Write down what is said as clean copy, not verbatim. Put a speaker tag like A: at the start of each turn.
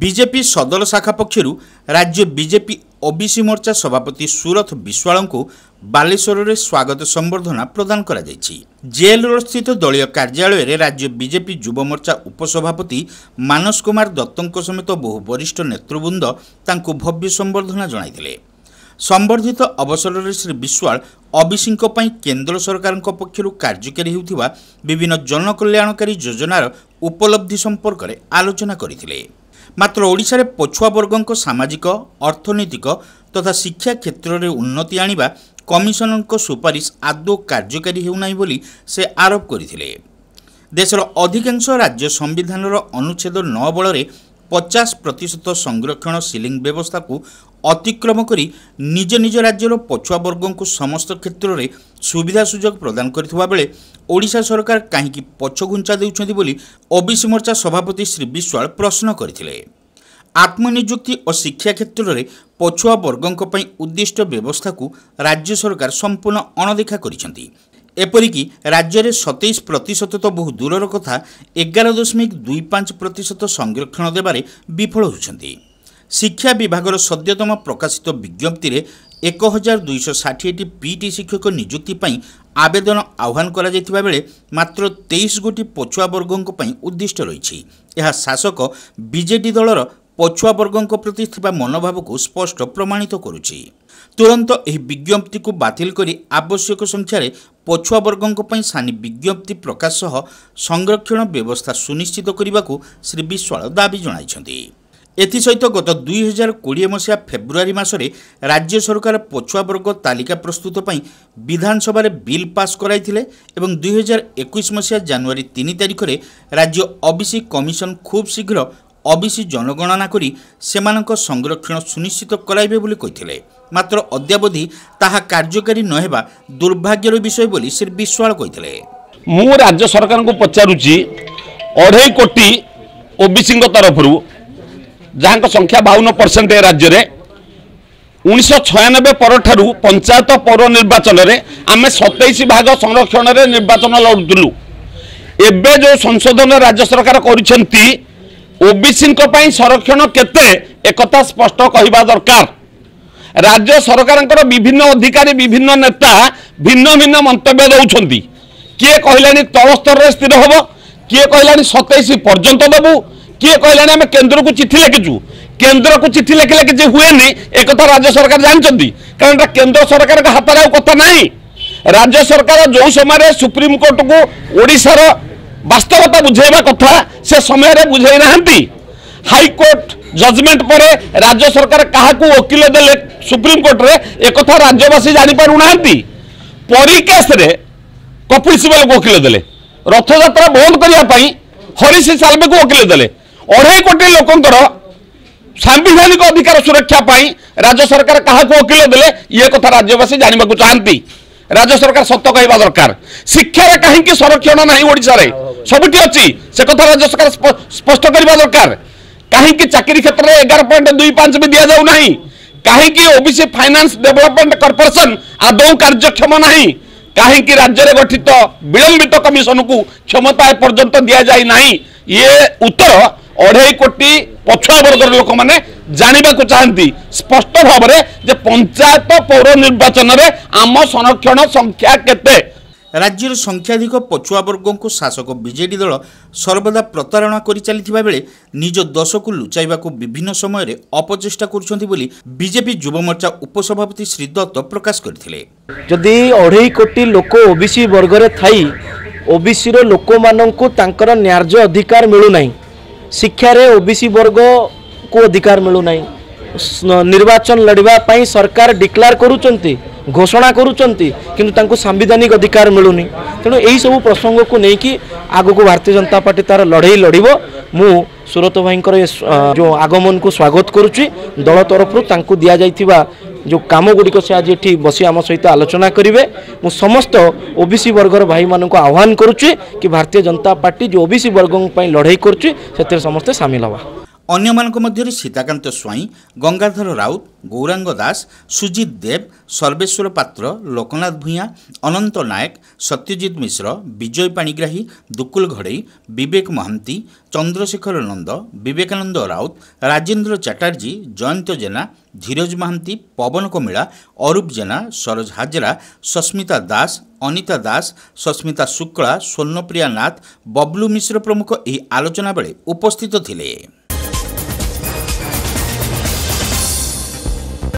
A: BJP ସଦର ଶାଖା ପକ୍ଷରୁ ରାଜ୍ୟ ବିଜେପି ଓବିସି ମୋର୍ଚ୍ଚା ସଭାପତି ସୁରଥ ବିଶ୍ୱାଳଙ୍କୁ ବାଲେଶ୍ୱରରେ ସ୍ୱାଗତ ସମ୍ବର୍ଦ୍ଧନା ପ୍ରଦାନ କରାଯାଇଛି। ଜେଲ୍ ରୋଡସ୍ଥିତ ଦଳୀୟ କାର୍ଯ୍ୟାଳୟରେ ରାଜ୍ୟ ବିଜେପି ଯୁବ ମୋର୍ଚ୍ଚା ଉପସଭାପତି ମାନସ କୁମାର ଦତ୍ତଙ୍କ ସମେତ ବହୁ ବରିଷ୍ଠ ନେତୃବୃନ୍ଦ ତାଙ୍କୁ ଭବ୍ୟ ସମ୍ବର୍ଦ୍ଧନା ଜଣାଇଥିଲେ। ସମ୍ବର୍ଦ୍ଧିତ ଅବସରରେ ଶ୍ରୀ ବିଶ୍ୱାଳ ଓବିସିଙ୍କ ପାଇଁ କେନ୍ଦ୍ର ସରକାରଙ୍କ ପକ୍ଷରୁ କାର୍ଯ୍ୟକାରୀ ହେଉଥିବା ବିଭିନ୍ନ ଜନକଲ୍ୟାଣକାରୀ ଯୋଜନାର ଉପଲବ୍ଧି ସମ୍ପର୍କରେ ଆଲୋଚନା କରିଥିଲେ। ମାତ୍ର ଓଡ଼ିଶାରେ ପଛୁଆ ବର୍ଗଙ୍କ ସାମାଜିକ, ଅର୍ଥନୈତିକ ତଥା ଶିକ୍ଷା କ୍ଷେତ୍ରରେ ଉନ୍ନତି ଆଣିବା କମିଶନଙ୍କ ସୁପାରିଶ ଆଦୌ କାର୍ଯ୍ୟକାରୀ ହେଉନାହିଁ ବୋଲି ସେ ଆରୋପ କରିଥିଲେ। ଦେଶର ଅଧିକାଂଶ ରାଜ୍ୟ ସମ୍ବିଧାନର ଅନୁଚ୍ଛେଦ 9 ବଳରେ 50% ସଂରକ୍ଷଣ ସିଲିଂ ବ୍ୟବସ୍ଥାକୁ ଅତିକ୍ରମ କରି ନିଜ ନିଜ ରାଜ୍ୟର ପଛୁଆ ବର୍ଗଙ୍କୁ ସମସ୍ତ କ୍ଷେତ୍ରରେ ସୁବିଧା ସୁଯୋଗ ପ୍ରଦାନ କରିଥିବା ବେଳେ ଓଡ଼ିଶା ସରକାର କାହିଁକି ପଛଘୁଞ୍ଚା ଦେଉଛନ୍ତି ବୋଲି ଓବିସି ମୋର୍ଚ୍ଚା ସଭାପତି ଶ୍ରୀ ବିଶ୍ୱାଳ ପ୍ରଶ୍ନ କରିଥିଲେ। ଆତ୍ମନିଯୁକ୍ତି ଓ ଶିକ୍ଷା କ୍ଷେତ୍ରରେ ପଛୁଆ ବର୍ଗଙ୍କ ପାଇଁ ଉଦ୍ଦିଷ୍ଟ ବ୍ୟବସ୍ଥାକୁ ରାଜ୍ୟ ସରକାର ସମ୍ପୂର୍ଣ୍ଣ ଅଣଦେଖା କରିଛନ୍ତି। ଏପରିକି ରାଜ୍ୟରେ 27% ତ ବହୁ ଦୂରର କଥା, 11.25% ସଂରକ୍ଷଣ ଦେବାରେ ବିଫଳ ହେଉଛନ୍ତି। ଶିକ୍ଷା ବିଭାଗର ସଦ୍ୟତମ ପ୍ରକାଶିତ ବିଜ୍ଞପ୍ତିରେ 1260ଟି ପିଟି ଶିକ୍ଷକ ନିଯୁକ୍ତି ପାଇଁ ଆବେଦନ ଆହ୍ୱାନ କରାଯାଇଥିବା ବେଳେ ମାତ୍ର 23 ଗୋଟି ପଛୁଆ ବର୍ଗଙ୍କ ପାଇଁ ଉଦ୍ଦିଷ୍ଟ ରହିଛି। ଏହା ଶାସକ ବିଜେଡି ଦଳର ପଛୁଆ ବର୍ଗଙ୍କ ପ୍ରତି ଥିବା ମନୋଭାବକୁ ସ୍ପଷ୍ଟ ପ୍ରମାଣିତ କରୁଛି। ତୁରନ୍ତ ଏହି ବିଜ୍ଞପ୍ତିକୁ ବାତିଲ କରି ଆବଶ୍ୟକ ସଂଖ୍ୟାରେ ପଛୁଆ ବର୍ଗଙ୍କ ପାଇଁ ସାନି ବିଜ୍ଞପ୍ତି ପ୍ରକାଶ ସହ ସଂରକ୍ଷଣ ବ୍ୟବସ୍ଥା ସୁନିଶ୍ଚିତ କରିବାକୁ ଶ୍ରୀ ବିଶ୍ୱାଳ ଦାବି ଜଣାଇଛନ୍ତି। ଏଥିସହିତ ଗତ 2020 ମସିହା ଫେବୃଆରୀ ମାସରେ ରାଜ୍ୟ ସରକାର ପଛୁଆ ବର୍ଗ ତାଲିକା ପ୍ରସ୍ତୁତ ପାଇଁ ବିଧାନସଭାରେ ବିଲ୍ ପାସ୍ କରାଇଥିଲେ ଏବଂ 2021 ମସିହା ଜାନୁଆରୀ 3 ତାରିଖରେ ରାଜ୍ୟ ଓବିସି କମିଶନ ଖୁବ୍ ଶୀଘ୍ର ଓବିସି ଜନଗଣନା କରି ସେମାନଙ୍କ ସଂରକ୍ଷଣ ସୁନିଶ୍ଚିତ କରାଇବେ ବୋଲି କହିଥିଲେ। ମାତ୍ର ଅଦ୍ୟାବଧି ତାହା କାର୍ଯ୍ୟକାରୀ ନ ହେବା ଦୁର୍ଭାଗ୍ୟର ବିଷୟ ବୋଲି ଶ୍ରୀ ବିଶ୍ୱାଳ କହିଥିଲେ।
B: ମୁଁ ରାଜ୍ୟ ସରକାରଙ୍କୁ ପଚାରୁଛି, 2.5 କୋଟି ଓବିସିଙ୍କ ତରଫରୁ ଯାହାଙ୍କ ସଂଖ୍ୟା 52% ଏ ରାଜ୍ୟରେ, 1996 ପରଠାରୁ ପଞ୍ଚାୟତ ପୌର ନିର୍ବାଚନରେ ଆମେ 27 ଭାଗ ସଂରକ୍ଷଣରେ ନିର୍ବାଚନ ଲଢ଼ୁଥିଲୁ। ଏବେ ଯେଉଁ ସଂଶୋଧନ ରାଜ୍ୟ ସରକାର କରିଛନ୍ତି, ଓବିସିଙ୍କ ପାଇଁ ସଂରକ୍ଷଣ କେତେ ଏକଥା ସ୍ପଷ୍ଟ କହିବା ଦରକାର। ରାଜ୍ୟ ସରକାରଙ୍କର ବିଭିନ୍ନ ଅଧିକାରୀ, ବିଭିନ୍ନ ନେତା ଭିନ୍ନ ଭିନ୍ନ ମନ୍ତବ୍ୟ ଦେଉଛନ୍ତି। କିଏ କହିଲାଣି ତଳ ସ୍ତରରେ ସ୍ଥିର ହେବ, କିଏ କହିଲାଣି 27 ପର୍ଯ୍ୟନ୍ତ ଦେବୁ, କିଏ କହିଲାଣି ଆମେ କେନ୍ଦ୍ରକୁ ଚିଠି ଲେଖିଛୁ। କେନ୍ଦ୍ରକୁ ଚିଠି ଲେଖିଲେ କିଛି ହୁଏନି, ଏକଥା ରାଜ୍ୟ ସରକାର ଜାଣିଛନ୍ତି, କାରଣ ଏଟା କେନ୍ଦ୍ର ସରକାରଙ୍କ ହାତରେ ଆଉ କଥା ନାହିଁ। ରାଜ୍ୟ ସରକାର ଯେଉଁ ସମୟରେ ସୁପ୍ରିମକୋର୍ଟକୁ ଓଡ଼ିଶାର ବାସ୍ତବତା ବୁଝେଇବା କଥା, ସେ ସମୟରେ ବୁଝେଇ ନାହାନ୍ତି। ହାଇକୋର୍ଟ ଜଜମେଣ୍ଟ ପରେ ରାଜ୍ୟ ସରକାର କାହାକୁ ଓକିଲ ଦେଲେ ସୁପ୍ରିମକୋର୍ଟରେ, ଏକଥା ରାଜ୍ୟବାସୀ ଜାଣିପାରୁନାହାନ୍ତି। ପରୀ କେସ୍ରେ କପିଲ ସିବଲକୁ ଓକିଲ ଦେଲେ, ରଥଯାତ୍ରା ବନ୍ଦ କରିବା ପାଇଁ ହରିଶ ସାଲଭେକୁ ଓକିଲ ଦେଲେ। 2.5 କୋଟି ଲୋକଙ୍କର ସାମ୍ବିଧାନିକ ଅଧିକାର ସୁରକ୍ଷା ପାଇଁ ରାଜ୍ୟ ସରକାର କାହାକୁ ଓକିଲ ଦେଲେ, ଇଏ କଥା ରାଜ୍ୟବାସୀ ଜାଣିବାକୁ ଚାହାନ୍ତି। ରାଜ୍ୟ ସରକାର ସତ କହିବା ଦରକାର। ଶିକ୍ଷାରେ କାହିଁକି ସଂରକ୍ଷଣ ନାହିଁ ଓଡ଼ିଶାରେ, ସବୁଠି ଅଛି, ସେ କଥା ରାଜ୍ୟ ସରକାର ସ୍ପଷ୍ଟ କରିବା ଦରକାର। କାହିଁକି ଚାକିରି କ୍ଷେତ୍ରରେ 11.25 ବି ଦିଆଯାଉ ନାହିଁ? କାହିଁକି ଓବିସି ଫାଇନାନ୍ସ ଡେଭଲପମେଣ୍ଟ କର୍ପୋରେସନ ଆଦୌ କାର୍ଯ୍ୟକ୍ଷମ ନାହିଁ? କାହିଁକି ରାଜ୍ୟରେ ଗଠିତ ବିଳମ୍ବିତ କମିଶନକୁ କ୍ଷମତା ଏପର୍ଯ୍ୟନ୍ତ ଦିଆଯାଇ ନାହିଁ? ଇଏ ଉତ୍ତର 2.5 କୋଟି ପଛୁଆ ବର୍ଗର ଲୋକମାନେ ଜାଣିବାକୁ ଚାହାନ୍ତି ସ୍ପଷ୍ଟ ଭାବରେ ଯେ ପଞ୍ଚାୟତ ପୌର ନିର୍ବାଚନରେ ଆମ ସଂରକ୍ଷଣ ସଂଖ୍ୟା କେତେ।
A: ରାଜ୍ୟର ସଂଖ୍ୟାଧିକ ପଛୁଆ ବର୍ଗଙ୍କୁ ଶାସକ ବିଜେଡି ଦଳ ସର୍ବଦା ପ୍ରତାରଣା କରି ଚାଲିଥିବା ବେଳେ ନିଜ ଦୋଷକୁ ଲୁଚାଇବାକୁ ବିଭିନ୍ନ ସମୟରେ ଅପଚେଷ୍ଟା କରୁଛନ୍ତି ବୋଲି ବିଜେପି ଯୁବମୋର୍ଚ୍ଚା ଉପସଭାପତି ଶ୍ରୀ ଦତ୍ତ ପ୍ରକାଶ କରିଥିଲେ।
C: ଯଦି 2.5 କୋଟି ଲୋକ ଓବିସି ବର୍ଗରେ ଥାଇ ଓବିସିର ଲୋକମାନଙ୍କୁ ତାଙ୍କର ନ୍ୟାର୍ଯ୍ୟ ଅଧିକାର ମିଳୁନାହିଁ, ଶିକ୍ଷାରେ ଓବିସି ବର୍ଗକୁ ଅଧିକାର ମିଳୁନାହିଁ, ନିର୍ବାଚନ ଲଢ଼ିବା ପାଇଁ ସରକାର ଡିକ୍ଲାର କରୁଛନ୍ତି, ଘୋଷଣା କରୁଛନ୍ତି, କିନ୍ତୁ ତାଙ୍କୁ ସାମ୍ବିଧାନିକ ଅଧିକାର ମିଳୁନି। ତେଣୁ ଏହିସବୁ ପ୍ରସଙ୍ଗକୁ ନେଇକି ଆଗକୁ ଭାରତୀୟ ଜନତା ପାର୍ଟି ତାର ଲଢ଼େଇ ଲଢ଼ିବ। ମୁଁ ସୁରତ ଭାଇଙ୍କର ଏ ଯେଉଁ ଆଗମନକୁ ସ୍ୱାଗତ କରୁଛି। ଦଳ ତରଫରୁ ତାଙ୍କୁ ଦିଆଯାଇଥିବା ଯେଉଁ କାମ ଗୁଡ଼ିକ ସେ ଆଜି ଏଠି ବସି ଆମ ସହିତ ଆଲୋଚନା କରିବେ। ମୁଁ ସମସ୍ତ ଓବିସି ବର୍ଗର ଭାଇମାନଙ୍କୁ ଆହ୍ୱାନ କରୁଛି କି ଭାରତୀୟ ଜନତା ପାର୍ଟି ଯେଉଁ ଓବିସି ବର୍ଗଙ୍କ ପାଇଁ ଲଢ଼େଇ କରୁଛି ସେଥିରେ ସମସ୍ତେ ସାମିଲ ହେବା।
A: ଅନ୍ୟମାନଙ୍କ ମଧ୍ୟରେ ସୀତାକାନ୍ତ ସ୍ୱାଇଁ, ଗଙ୍ଗାଧର ରାଉତ, ଗୌରାଙ୍ଗ ଦାସ, ସୁଜିତ ଦେବ, ସର୍ବେଶ୍ୱର ପାତ୍ର, ଲୋକନାଥ ଭୂୟାଁ, ଅନନ୍ତ ନାୟକ, ସତ୍ୟଜିତ ମିଶ୍ର, ବିଜୟ ପାଣିଗ୍ରାହୀ, ଦୁକୁଲ ଘଡ଼େଇ, ବିବେକ ମହାନ୍ତି, ଚନ୍ଦ୍ରଶେଖର ନନ୍ଦ, ବିବେକାନନ୍ଦ ରାଉତ, ରାଜେନ୍ଦ୍ର ଚାଟାର୍ଜୀ, ଜୟନ୍ତ ଜେନା, ଧୀରଜ ମହାନ୍ତି, ପବନ କମିଳା, ଅରୂପ ଜେନା, ସରୋଜ ହାଜରା, ସସ୍ମିତା ଦାସ, ଅନିତା ଦାସ, ସସ୍ମିତା ଶୁକ୍ଳା, ସ୍ୱର୍ଣ୍ଣପ୍ରିୟା ନାଥ, ବବଲୁ ମିଶ୍ର ପ୍ରମୁଖ ଏହି ଆଲୋଚନା ବେଳେ ଉପସ୍ଥିତ ଥିଲେ।